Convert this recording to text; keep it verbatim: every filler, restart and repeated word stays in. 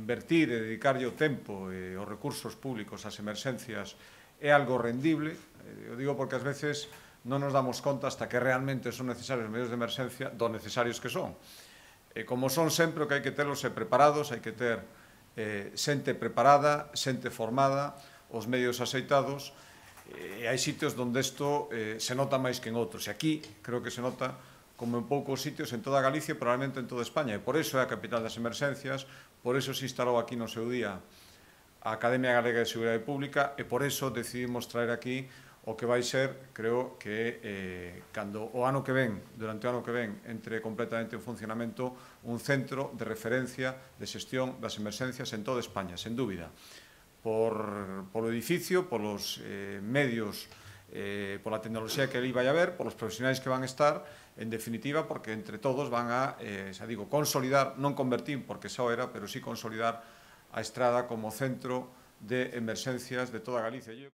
invertir e dedicarlle o tempo e os recursos públicos ás emerxencias é algo rendible. Eu digo porque ás veces non nos damos conta hasta que realmente son necesarios os medios de emerxencia do necesarios que son. E como son sempre, o que hai que terlos é preparados, hai que ter eh, xente preparada, xente formada, os medios aceitados, e hai sitios onde isto eh, se nota máis que en outros. E aquí creo que se nota como en poucos sitios en toda Galicia e probablemente en toda España. E por iso é a capital das emerxencias, por iso se instalou aquí no seu día a Academia Galega de Seguridade Pública e por iso decidimos traer aquí o que vai ser, creo que eh, cando o ano que ven, durante o ano que ven, entre completamente en funcionamento un centro de referencia de xestión das emerxencias en toda España, sen dúbida. Por, polo edificio, polos eh, medios, eh, pola tecnoloxía que ali vai haber, polos profesionais que van estar, en definitiva, porque entre todos van a, eh, xa digo, consolidar, non convertir, porque xa era, pero sí consolidar a Estrada como centro de emerxencias de toda Galicia.